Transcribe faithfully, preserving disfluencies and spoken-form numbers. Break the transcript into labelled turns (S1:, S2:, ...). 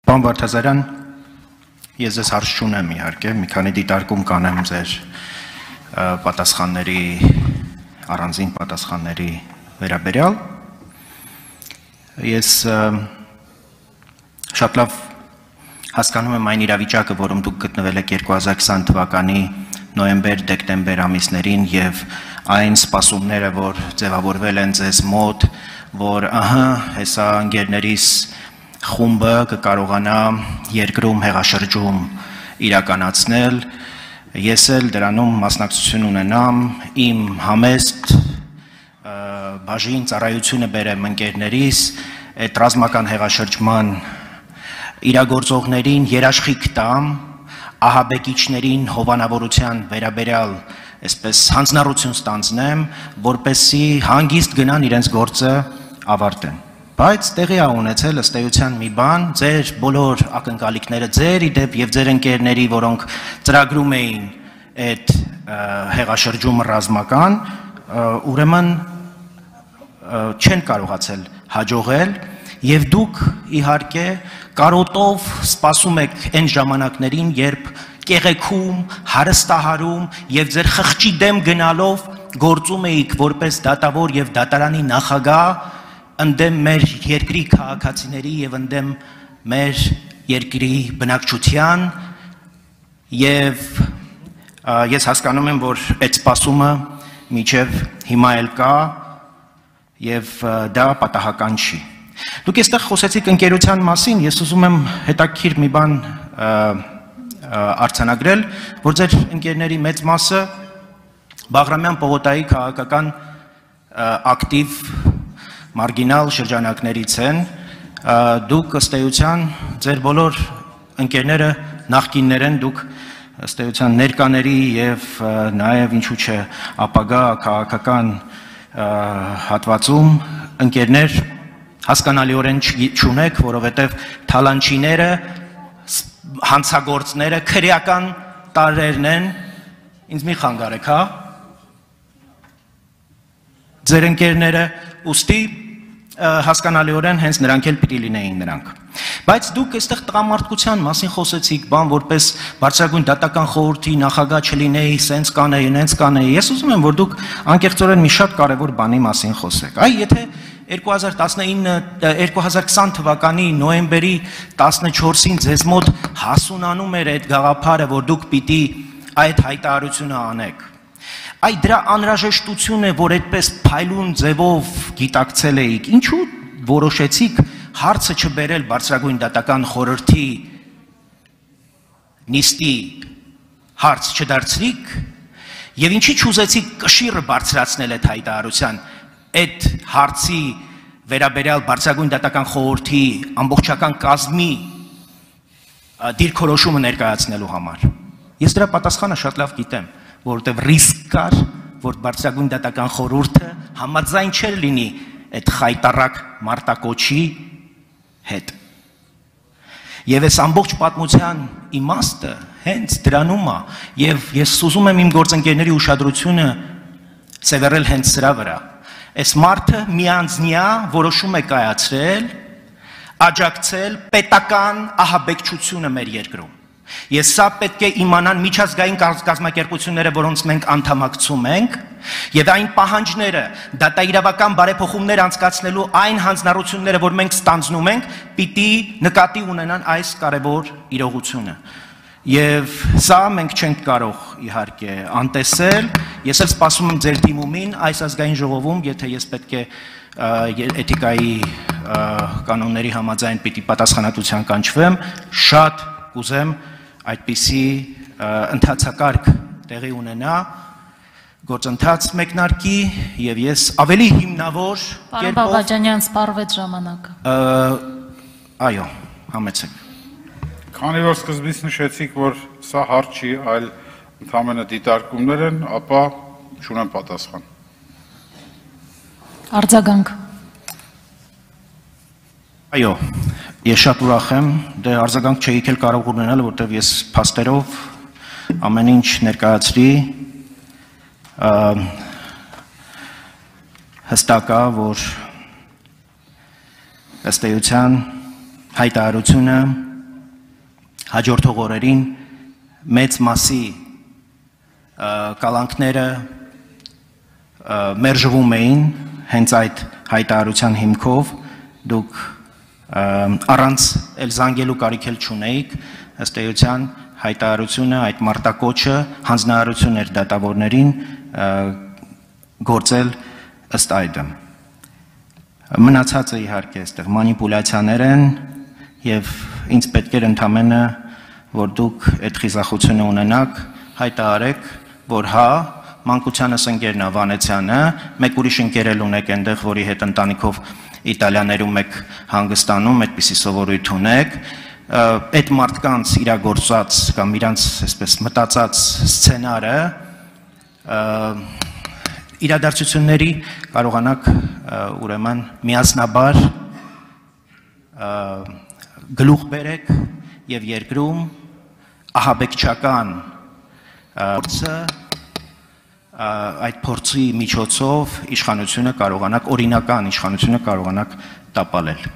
S1: Պարոն Վարդազարյան, ես ձեզ հարց չունեմ իհարկե, մի քանի դիտարկում կանեմ ձեր պատասխանների, առանձին պատասխանների վերաբերյալ։ Ես շատ լավ հասկանում եմ այն իրավիճակը, որում դուք գտնվել եք երկու հազար քսան թվականի նոյեմբեր-դեկտեմբեր ամիսներին եւ այն սպասումները, որ ձևավորվել են ձեզ մոտ, որ ահա հեսա ընկերներիս խումբը կկարողանա երկրում հեղաշրջում իրականացնել, ես էլ դրանում մասնակցություն ունենամ, իմ համեստ բաժին ծառայությունը բերեմ ընկերներիս, այդ ռազմական հեղաշրջման իրագործողներին երաշխիք տամ, ահաբեկիչներին հովանավորության վերաբերյալ այսպես հանձնառություն ստանձնեմ, որպեսզի հանգիստ գնան իրենց գործը ավարտեն։ Բայց տեղի ա ունեցել ըստ էության մի բան, ձեր բոլոր ակնկալիքները ձեր իդեպ եւ ձեր ընկերների, որոնք ծրագրում էին այդ հեղաշրջումը ռազմական, ուրեմն չեն կարողացել հաջողել եւ դուք իհարկե կարոտով սպասում եք այն ժամանակներին, երբ կեղեքում, հարստահարում եւ ձեր խղճի դեմ գնալով գործում էիք որպես դատավոր եւ դատարանի նախագահ ընդդեմ մեր երկրի քաղաքացիների եւ ընդդեմ մեր երկրի բնակչության եւ ես հասկանում եմ, որ այդ սպասումը մինչեւ հիմա էլ կա եւ դա պատահական չի։ Դուք այստեղ խոսեցիք ընկերության մասին, ես ուզում եմ հետաքրքիր մի բան արձանագրել, որ ձեր ընկերների մեծ մասը Բաղրամյան պողոտայի քաղաքական ակտիվ մարգինալ շրջանակներից են, դուք ըստ էության ձեր բոլոր ընկերները նախկիններ են, դուք ըստ էության ներկաների եւ նաեւ ինչու՞ չէ ապագա քաղաքական հատվածում ընկերներ հասկանալիորեն չունեք, որովհետև թալանչիները, հանցագործները, քրեական տարրերն են, ինձ մի խանգարեք, հա, ձեր ընկերները, ուստի հասկանալիորեն հենց նրանք էլ պիտի լինեին նրանք։ Բայց դուք այստեղ տղամարդկության մասին խոսեցիք, բան որպես բարձրագույն դատական խորհրդի նախագահ չլինեի, սենց կանեի, նենց կանեի։ Ես ուզում եմ, որ դուք անկեղծորեն մի շատ կարևոր բանի մասին խոսեք։ Այ եթե երկու հազար տասնինը երկու հազար քսան թվականի նոյեմբերի տասնչորսին ձեզ մոտ հասունանում էր այդ գաղափարը, որ դուք պիտի այդ հայտարարությունը անեք։ Այ դրա անհրաժեշտությունը, որ այդպես փայլուն ձևով գիտակցել էիք, ինչու որոշեցիք հարցը չբերել բարձրագույն դատական խորհրդի նիստի հարց չդարձրիք եւ ինչի չուզեցիք կշիռը բարձրացնել այդ հայտարարության այդ հարցի վերաբերյալ բարձրագույն դատական խորհրդի ամբողջական կազմի դիրքորոշումը ներկայացնելու համար։ Ես դրա պատասխանը շատ լավ գիտեմ, որովհետև ռիսկ կար, որ բարձրագույն դատական խորհուրդը համաձայն չէր լինի այդ խայտառակ մարտակոչի հետ։ Եվ այս ամբողջ պատմության իմաստը հենց դրանում է, եւ ես ուզում եմ իմ գործընկերների ուշադրությունը սևեռել հենց սրա վրա։ Այս մարդը միանձնյա որոշում է կայացրել, աջակցել պետական ահաբեկչությունը մեր երկրում։ Ես սա պետք է իմանան միջազգային կազմակերպությունները, որոնց մենք անդամակցում ենք, եւ այն պահանջները, դատաիրավական բարեփոխումներ անցկացնելու այն հանձնառությունները, որ մենք ստանձնում ենք, պիտի նկատի ունենան այս կարևոր իրողությունը։ Եվ սա մենք չենք կարող իհարկե անտեսել, ես էլ սպասում եմ ձեր դիմումին այս ազգային ժողովում, եթե ես պետք է էթիկայի կանոնների համաձայն պիտի պատասխանատվության կանչվեմ, շատ կուզեմ այդպիսի ընթացակարգ տեղի ունենա, գործընթաց մեկնարկի եւ ես ավելի հիմնավոր
S2: Պարոն Բաղաջանյան, սպառվեց ժամանակը։
S1: Այո, համեցեք։
S3: Քանի որ սկզբից նշեցիք, որ սա հարց չի, այլ ընդհանրապես դիտարկումներ են, ապա չունեմ պատասխան։
S2: Արձագանք։
S1: Այո, ես շատ ուրախ եմ, դե արձագանք չէիք էլ կարող ունենալ, որտեղ ես փաստերով ամեն ինչ ներկայացրի, հստակ է, որ ըստ էության հայտարարությունը հաջորդող օրերին մեծ մասի կալանքները մերժվում էին հենց այդ հայտարարության հիմքով, դուք առանց էլ զանգելու կարիք էլ չունեիք, ըստ էության հայտարարությունը, այդ մարտակոչը հանձնարարություն էր դատավորներին գործել ըստ այդմ։ Մնացածը իհարկե այստեղ մանիպուլյացիաներ են եւ ինձ պետք էր ընդամենը, որ դուք այդ խիզախությունը ունենաք, հայտարարեք, որ հա, մանկությանս ընկերն է Վանեցյանը, մեկ ուրիշ ընկեր էլ ունեք այնտեղ, որի հետ ընտանիքով Իտալիաներում եք հանգստանում, այդպիսի սովորույթ ունեք, այդ մարդկանց իրագործած կամ իրանց այսպես մտածած սցենարը իրադարձությունների կարողանաք ուրեմն միասնաբար գլուխ բերեք եւ երկրում ահաբեկչական փորձը այդ փորձի միջոցով իշխանությունը կարողանաք օրինական իշխանությունը կարողանաք տապալել